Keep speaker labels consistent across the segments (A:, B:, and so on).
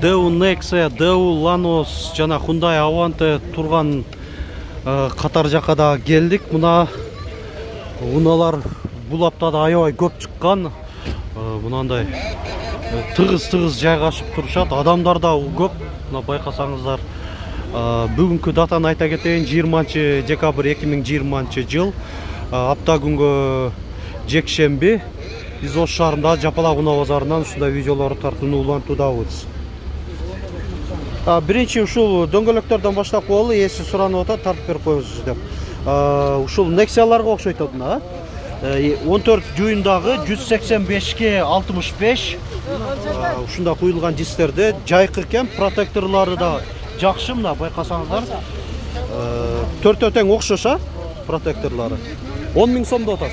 A: Daewoo Nexia, Daewoo Lanos жана Hyundai Avante турган катар жакка да келдик. Мына унаалар бул аптада аябай көп чыккан. Мынандай тыгыз жайгашып турушат. Адамдар да көп. Мына байкасаңыздар. Бүгүнкү датаны айта кетейин, 20-декабрь 2020 жыл. Апта күнгө жекшемби. Биз Ош шаарында Жапалак унаа базарынан ушундай видеолор тартууну улантуудабыз. Биринчи ушул дөңгөлөктөрдөн баштап коелу, эси суранып атат, тартып берип коебуз деп. Ушул Nexia'ларга окшойт мына. 14 дюймдагы 185ге 65. Ушунда куюлган дистерде жайкы экен, протекторлору да жакшы, мына байкасаңыздар. Төртөө тең окшош протекторлору. 10 000 сом деп атат.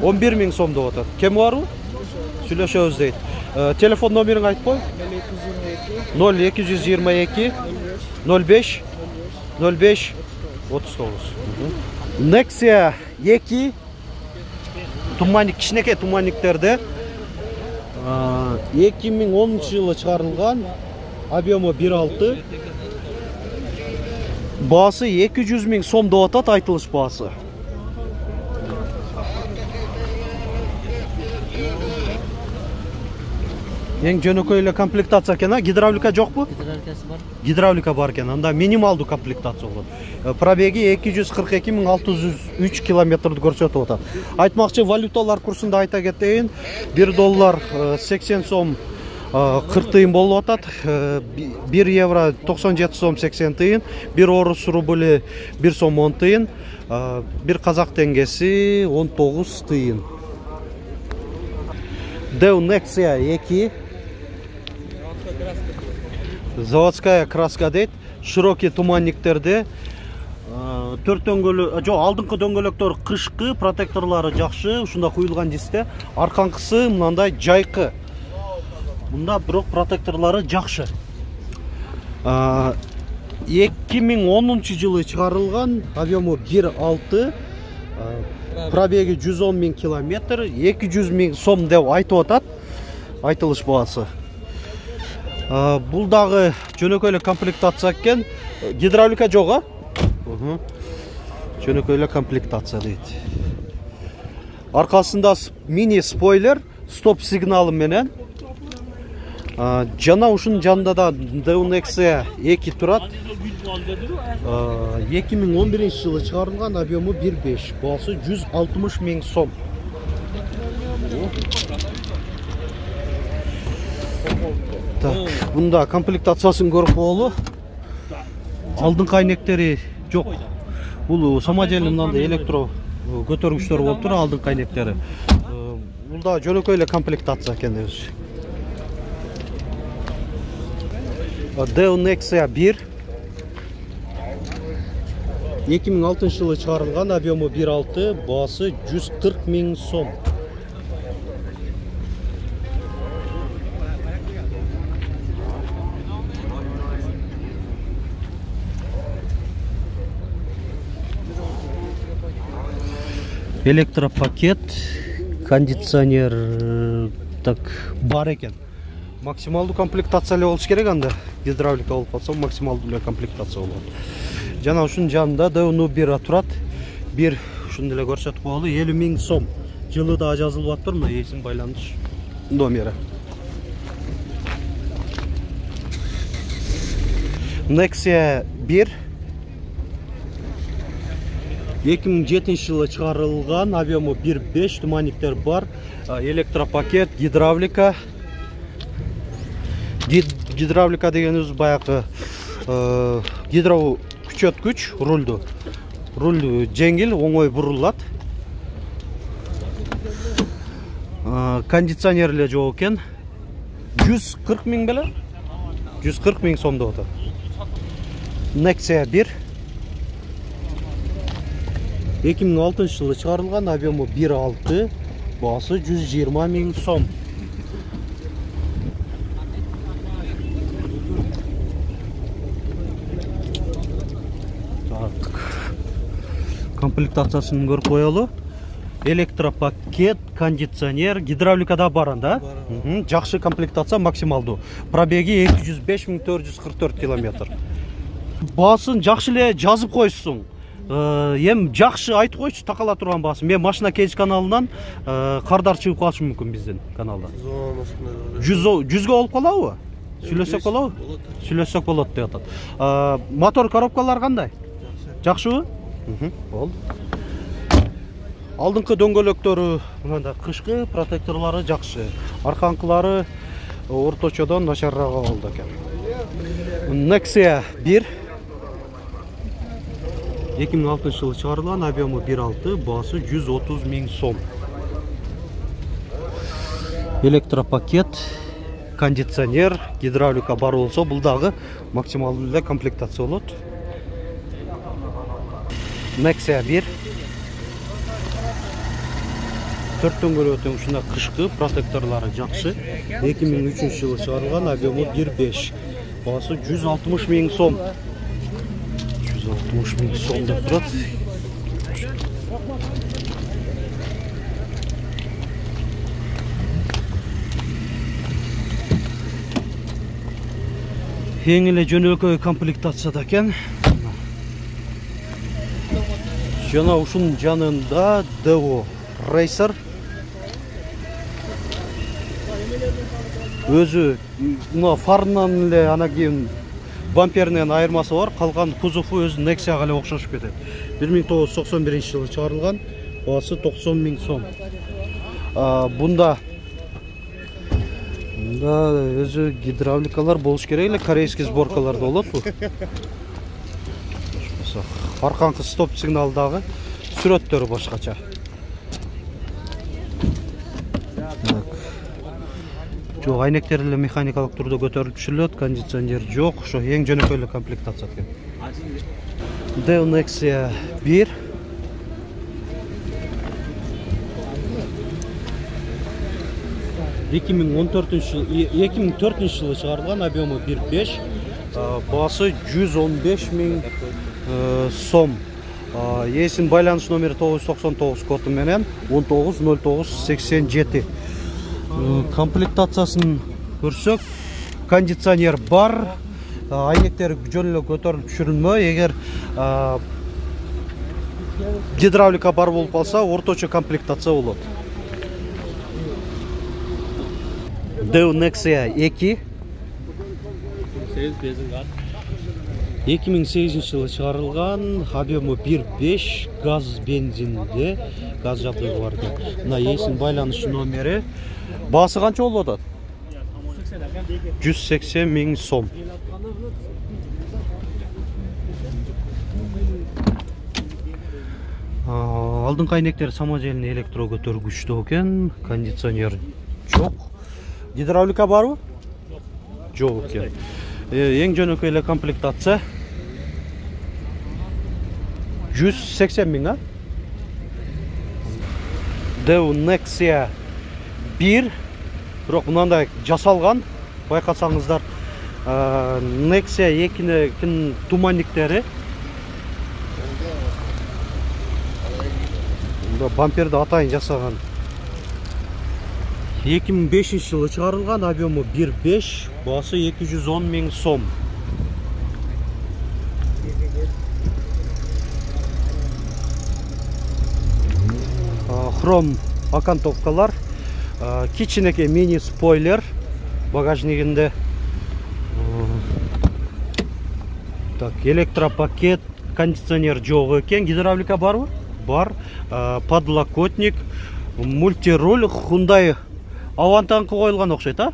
A: 11 000 сом деп атат. Кем барбы? Сүйлөшөбүз дейт. Телефон номериңди айтып кой. 0222 05 05 39. Nexia 2 туманник, кичинекей туманниктерде 2010 жылы чыгарылган, объему 1.6, баасы 200 000 сом деп атат, айтылыш баасы. Эң жөнөкөй эле комплектация экен, гидравлика жокпу?
B: Гидравликасы бар.
A: Гидравлика бар экен, анда минималдуу комплектация болот. Пробеги 242 603 километрди көрсөтүп атат. Айтмакчы, валюталар курсунда айта кетейин, 1 доллар 80 сом 40 тыйын болуп атат, 1 евро 97 сом 80 тыйын, 1 орус рубли 1 сом 10 тыйын, 1 казак теңгеси 19 тыйын. Daewoo Nexia 2 заводская краска дейт, широкий туманниктерде, 4 дөңгөлөк, жок, алдыңкы дөңгөлөктөр кышкы, протекторлору жакшы, ушунда куюлган дисте, арканкысы мындай жайкы. Мында бирок протекторлору жакшы. 2010 жылы чыгарылган, объему 1.6, пробеги 110 000 километр, 200 000 сом деп айтып атат, айтылыш баасы. Бул дагы жөнөкөй эле комплектация экен, гидравлика жок, жөнөкөй эле комплектация дейт. Аркасында мини спойлер, стоп сигналы менен. Жана ушунун жанында да Daewoo Nexia 2 турат. 2011 жылы чыгарылган, объему 1.5, баасы 160 000 сом. Бунда комплектациясын көрүп коелу. Алдыңкы айнектери жок. Бул самоделный мындай электро көтөргүчтөр болуп тур, алдыңкы айнектери. Бул да жөнөкөй эле комплектация экен дебиз. Daewoo Nexia 1 2006 жылы чыгарылган, объему 1.6, баасы 140 000 сом. Электропакет, кондиционер так бар экен. Максималдуу комплектация эле болуш керек, анда гидравлика болуп калса максималдуу эле комплектация болот. Жана ушунун жанында Daewoo 1 турат. Бир ушуну эле көрсөтүп коелу, 50 000 сом. Жылы да жазылып атыр, мына эсин байланыш номери. Nexia 1 2007 жылы чыгарылган, объему 1.5, туманниктер бар, электропакет, гидравлика. Гидравлика дегенибиз баягы гидро күчөткүч рулду. Руль жеңил, оңой бурулат. Кондиционер эле жок экен. 140 000 беле? 140 000 сом деп атат. Nexia 1 2006 жылы чыгарылган, объему 1.6, баасы 120 000 сом. Комплектациясын көрүп коелу. электропакет, кондиционер, гидравликада бар анда. Жакшы комплектация максималдуу. Пробеги 205.444 километр. Баасын жакшы эле жазып койсуң. Эм жакшы айтып койчу такала турган баасын. Мен машина кеч каналынан кардар чыгып калышы мүмкүн биздин каналда. 100 болуп калабы? Сүйлөсөк болобу? Сүйлөсөк болот деп атат. Мотор коробкалар кандай? Жакшыбы? Болду. Алдыңкы дөңгөлөктөрү мында кышкы, протекторлору жакшы. Арканкылары орточодон начарраак болду экен. Nexia 1 2006 жылы чыгарылган, объему 1.6, баасы 130 000 сом. Электропакет, кондиционер, гидравлика бар болсо, бул дагы максималдуу эле комплектация болот. Nexia 1 4 дөңгөлөктүн ушунда кышкы, протекторлору жакшы. 2003 жылы чыгарылган, объему 1.5, баасы 160 000 сом. 160 000 сом деп турат. Эң эле жөнөкөй комплектацияда экен. Жана ушунун жанында Devo Racer өзү мына фарынан эле ана кийин бамперинен айырмасы бар, калган кузову өзү Nexia'га эле окшошуп кетет. 1991 жылы чыгарылган, баасы 90 000 сом. Бунда өзү гидравликалар болуш керек эле, корейский сборкаларда болот бу. Арканкы стоп сигналдагы сүрөттөрү башкача. Жок, айнектер эле механикалык турда көтөрүлүп түшүрүлөт, кондиционер жок, ошо эң жөнөкөй эле комплектация экен. Devo Nexia 1 2004 жылы чыгарылган, объему 1.5, баасы 115 000 сом. Эсин байланыш номери 999 коду менен 190987. Комплектациясын көрсөк, кондиционер бар, айнектер жөн эле көтөрүлүп түшүрүлмө. Эгер гидравлика бар болуп калса, орточо комплектация болот. Devo Nexia 2 2008 жылы чыгарылган, объему 1.5, газ бензинде, газ жабдыгы бар экен. Мына эсин байланыш номери. Баасы канча болуп атат? 180 000 сом. Алдыңкы айнектер самодельный электро көтөргүчтүү экен, кондиционер жок. Гидравлика барбы? Жок экен. Эң жөнөкөй эле комплектация 180 000, а? Devo Nexia 1, бирок мындай жасалган, байкасаңыздар, Nexia 2-нин туманниктери. Мында бамперди атайын жасаган. 2005 жылы чыгарылган, объему 1.5, баасы 210 000 сом. Хром окантовкалар, кичинекей мини спойлер багажнигинде. Так, электропакет, кондиционер жок экен, гидравлика барбы? Бар. Подлокотник, мультируль, Hyundai Авантанкы коюлган окшойт, а?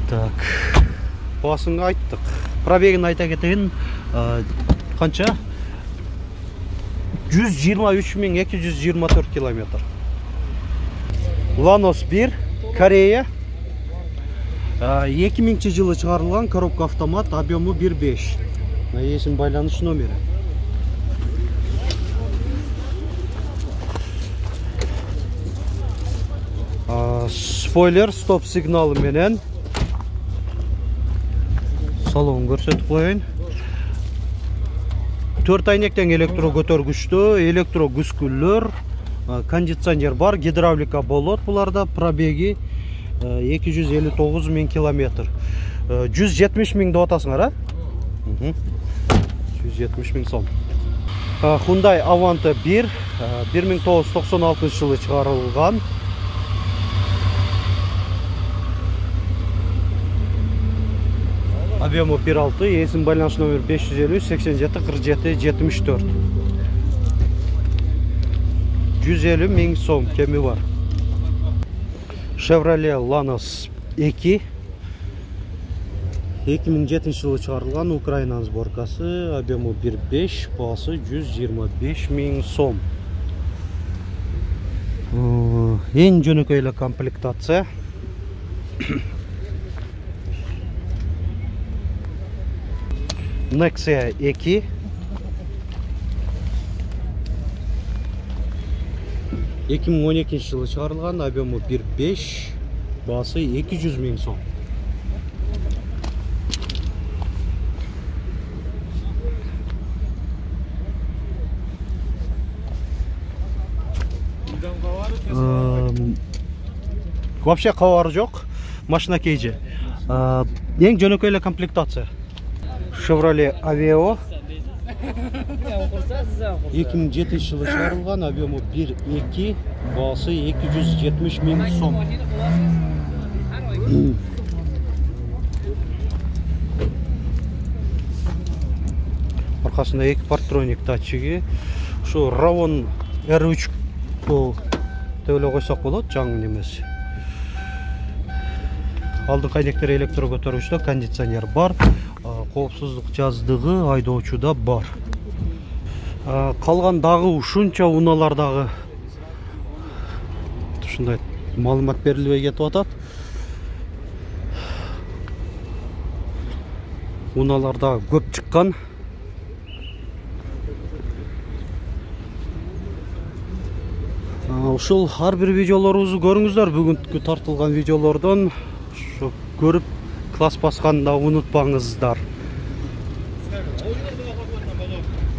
A: Так, баасын айттык. Пробегин айта кетейин, канча? 123 224 километр. Lanos 1, Корея. 2000 жылы чыгарылган, коробка автомат, объему 1.5. Эсин байланыш номери. Спойлер, стоп сигналы менен. Салон көрсөтүп коеюн. 4 айнектен электро көтөргүчтүү, электро күскүлөр, кондиционер бар, гидравлика болот. Буларда пробеги 259 000 километр. 170 000 деп атасыңар, а? 170 000 сом. Hyundai Avante 1 1996 жылы чыгарылган. Объему 1.6, есім байланыш номер 550 87 47 74. 150 000 сом кеми бар. Chevrolet Lanos 2 2007 жылы чыгарылган, Украинанын сборкасы, объему 1.5, баасы 125 000 сом. Эң жөнөкөй эле комплектация. Nexia 2 2012 жылы чыгарылган, объему 1.5, баасы 200 000 сом. Вообще кабары жок, машина кейжи. Эң жөнөкөй эле комплектация. Chevrolet Aveo 2007 жылы чыгарылган, объему 1.2, баасы 270 000 сом. Аркасында 2 партроник датчиги. Ушу Ravon R3 деп эле койсок болот, жаңы немеси. Алдыңкы айнектер электро көтөргүчтө, кондиционер бар, коопсуздук жаздыгы айдоочуда бар. Калган дагы ушунча унаалардагы ушундай маалымат берилбей кетип атат. Унааларда көп чыккан. Ушул ар бир видеолорубузду көрүңүздөр. Бүгүнкү тартылган видеолордон ушу көрүп класс басканды унутпаңыздар.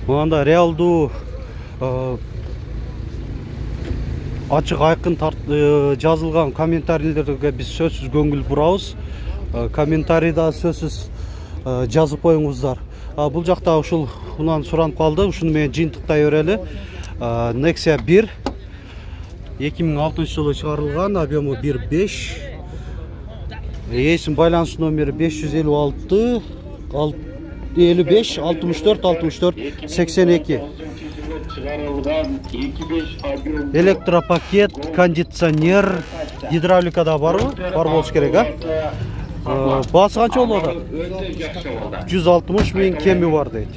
A: Мында реалдуу ачык айкын жазылган комментарийлерге биз сөзсүз көңүл бурабыз. Комментарийда сөзсүз жазып коюңуздар. Бул жакта ушул унан суранып калды, ушуну менен жыйынтыктай берели. Nexia 1 2006 жылы чыгарылган, объему 1.5. Есім байланыш номери 556 55 64 64 82. Электропакет, кондиционер, гидравлика да барбы? Бар болуш керек, а? Баасы канча болот? 160 000 кеми бар дейт.